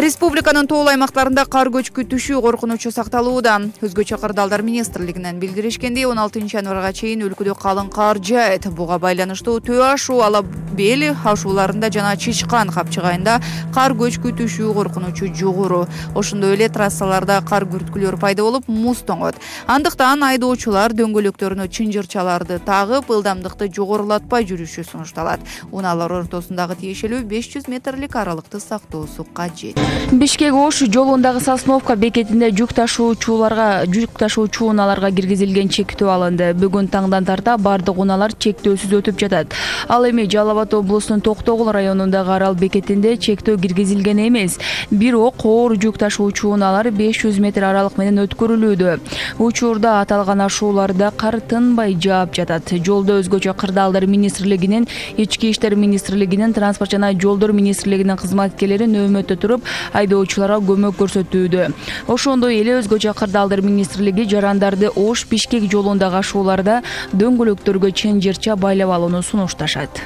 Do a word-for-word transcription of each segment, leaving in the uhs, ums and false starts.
Республиканын тоол аймактарында кар көчкү түшүү коркунучу сакталууда. Өзгөчө кырдаалдар министрлигинен билдиришкендей, он алтынчы январга чейин өлкөдө калың кар жаайт. Буга байланыштуу Төө ашуу, Ала бел ашууларында жана Чычкан капчыгайында кар көчкү түшүү коркунучу жогору. Ошондой эле трассаларда кар күрткүлөр пайда болуп, муз тоңот. Андыктан айдоочулар дөңгөлөктөрүнө чынжырчаларды тагып, ылдамдыкты жогорулатпай жүрүшү сунушталат. Унаалар ортосундагы тиешелүү беш жүз метрлик аралыкты сактоосу кажет. Бишкек Ош жолундагы Сосновка бекетинде жүк ташуучуларга жүк ташуучу унааларга киргизилген чектөө алынды. Бүгүн таңдан тарта бардык унаалар чектөөсүз өтүп жатат. Ал эми Жалал Абад облусунун Токтогул районундагы Арал бекетинде чектөө киргизилген эмес. Бирок оор жүк ташуучу унаалар беш жүз метр аралык менен өткөрүлүүдө. Учурда аталган ашууларда кар тынбай жаап жатат. Жолдо өзгөчө кырдаалдар министрлигинин, Ички иштер министрлигинин, Транспорт жана жолдор министрлигинин кызматкерлери нөөмөттө туруп, айдоочуларга көмөк көрсөтүүдө. Ошондой эле өзгөчө кырдаалдар министрлиги жарандарды Ош Бишкек жолундагы ашууларда дөңгөлөктөргө чынжырча байлап алууну сунушташат.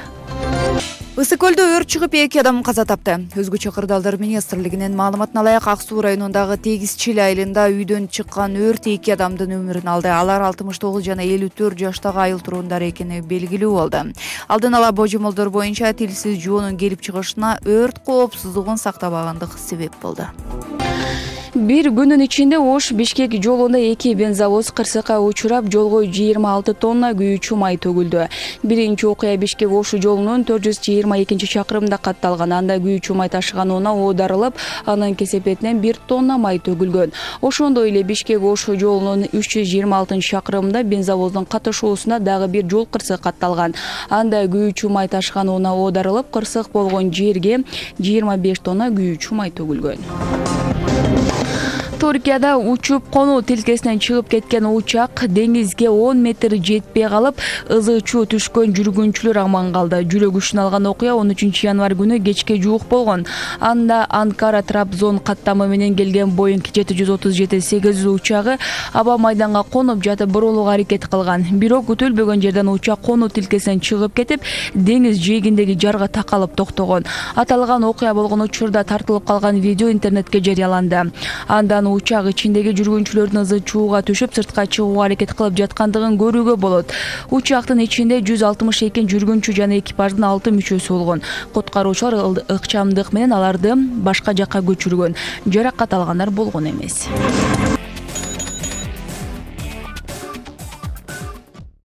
Ысык көлдө өрт чыгып, эки адам каза тапты. Өзгөчө кырдаалдар министрлигинин маалыматына ылайык, Ак суу районундагы Тегизчил айылында үйдөн чыккан өрт эки адамдын өмүрүн алды. Алар алтымыш тогуз жана элүү төрт жаштагы айыл тургундары экени белгилүү болду. Алдын ала божомолдор боюнча тилсиз жоонун келип чыгышына өрт коопсуздугун сактабагандык себеп болду. Бир күнүн ичинде Ош Бишкек жолунда эки бензовоз кырсыкка учурап, жолго жыйырма алты тонна күйүүчү май төгүлдү. Биринчи окуя Бишкек Ош жолунун төрт жүз жыйырма экинчи чакырымында катталган. Анда күйүүчү май ташыган унаа оодарылып, анын кесепетинен бир тонна май төгүлгөн. Ошондой эле Бишкек Ош жолунун үч жүз жыйырма алтынчы чакырымында бензовоздун катышуусуна дагы бир жол кырсык катталган. Анда күйүүчү май ташыган унаа оодарылып, кырсык болгон жерге жыйырма беш тонна күйүүчү май төгүлгөн. Туркияда учуп конуу тилкесинен чыгып кеткен учак деңизге он метр жетпей калып, ызы-чуу түшкөн жүргүнчүлөр аман калды. Жүрөк учун алган окуя он үчүнчү январь күнү кечке жуук болгон. Анда Анкара Трабзон каттамы менен келген Боинг жети жүз отуз жети сегиз жүз учагы аба майданга конуп жатып бурулууга аракет кылган. Бирок күтүлбөгөн жерден учак конуу тилкесинен чыгып кетип, деңиз жээгиндеги жарга такалып токтогон. Аталган окуя болгон учурда тартылып калган видео интернетке жарыяланды. Андан учак ичиндеги жүргүнчүлөрдүн ызы-чууга түшүп, сыртка чыгууга аракет кылып жаткандыгын көрүүгө болот. Учактын ичинде жүз алтымыш эки жүргүнчү жана экипаждын алты мүчөсү болгон. Куткаруучулар ыкчамдык менен аларды башка жакка көчүргөн. Жаракат алгандар болгон эмес.